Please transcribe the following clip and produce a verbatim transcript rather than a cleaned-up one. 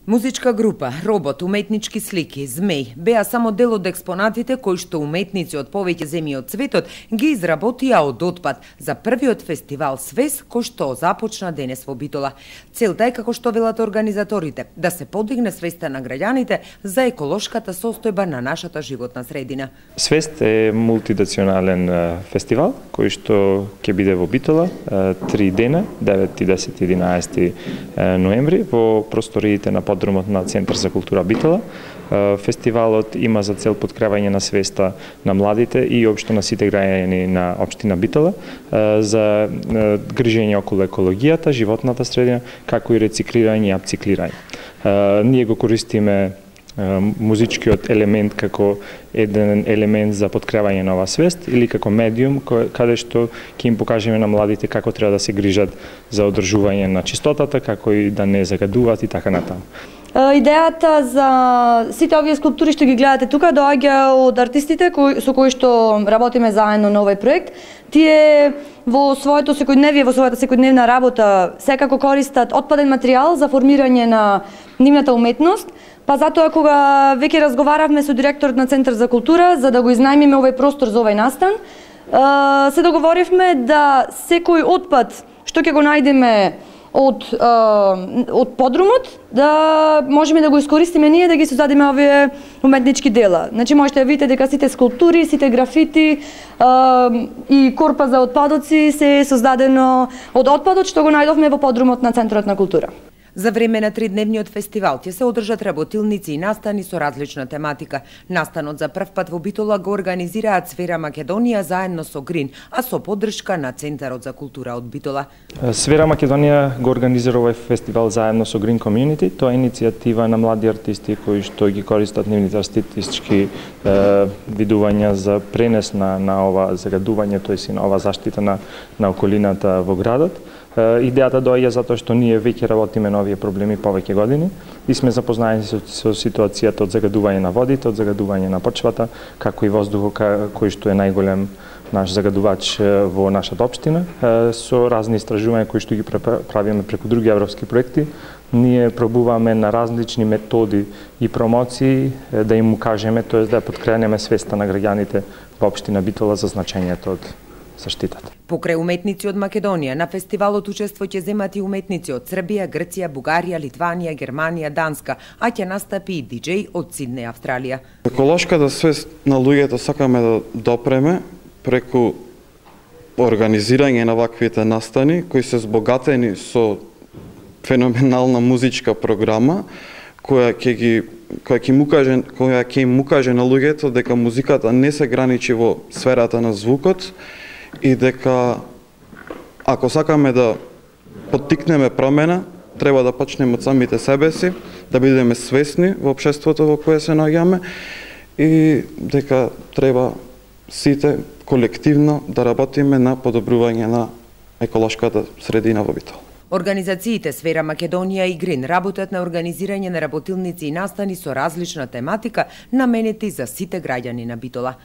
Музичка група, робот, уметнички слики, змеј беа само дел од експонатите кои што уметници од повеќе земји од светот ги изработија од отпад за првиот фестивал Свес кој што започна денес во Битола. Целта е, како што велат организаторите, да се подигне свеста на граѓаните за еколошката состојба на нашата животна средина. Свест е мултинационален фестивал кој што ќе биде во Битола три дена, девет, десет и единаесет ноември во просториите на подрумот на Центар за култура Битола. Фестивалот има за цел подкрепање на свеста на младите и општо на сите граѓани на општина Битола за грижење околу екологијата, животната средина, како и рециклирање и апциклирање. Ние го користиме музичкиот елемент како еден елемент за подкрепање на оваа свест или како медиум каде што ќе им покажеме на младите како треба да се грижат за одржување на чистотата, како и да не загадуваат и така натаму. Идејата за сите овие скулптури што ги гледате тука доаѓа од артистите кои, со кои што работиме заедно на овој проект. Тие во своето секојдневие, во својата секојдневна работа секако користат отпаден материјал за формирање на нивната уметност. Па затоа кога веќе разговаравме со директорот на Центар за култура за да го изнајмиме овој простор за овој настан, се договоривме да секој отпад што ќе го најдеме од од подрумот да можеме да го искористиме ние да ги создадеме овие уметнички дела. Значи можете да видите дека сите скулптури, сите графити и корпа за отпадоци се создадено од отпадот што го најдовме во подрумот на Центарот на култура. За време на тридневниот фестивал ќе се одржат работилници и настани со различна тематика. Настанот за прв пат во Битола го организираат Сфера Македонија заедно со Грин, а со поддршка на Центарот за култура од Битола. Сфера Македонија го организира овој фестивал заедно со Green Community. Тоа е иницијатива на млади артисти кои што ги користат нивните артистички е, видувања за пренес на, на ова загадување, тоест и на ова заштита на, на околината во градот. Идејата доаѓа затоа што ние веќе работиме на овие проблеми повеќе години и сме запознаени со, со ситуацијата од загадување на водите, од загадување на почвата, како и воздухот кој што е најголем наш загадувач во нашата општина. Со разни истражувања кои што ги правиме преку други европски проекти, ние пробуваме на различни методи и промоции да им укажеме, тоест да подкренеме свеста на граѓаните во општина Битола за значењето од заштитата. Покрај уметници од Македонија, на фестивалот учество ќе земат и уметници од Србија, Грција, Бугарија, Литванија, Германија, Данска, а ќе настапи и диџеј од Сиднеј, Австралија. Еколошката свест на луѓето сакаме да допреме преку организирање на ваквите настани кои се збогатени со феноменална музичка програма која ќе ги која ќе му каже која ќе им укаже на луѓето дека музиката не се граничи во сферата на звукот и дека ако сакаме да поттикнеме промена, треба да почнеме од самите себе си, да бидеме свесни во општеството во кое се наоѓаме и дека треба сите колективно да работиме на подобрување на еколошката средина во Битола. Организациите Сфера Македонија и Грин работат на организирање на работилници и настани со различна тематика наменети за сите граѓани на Битола.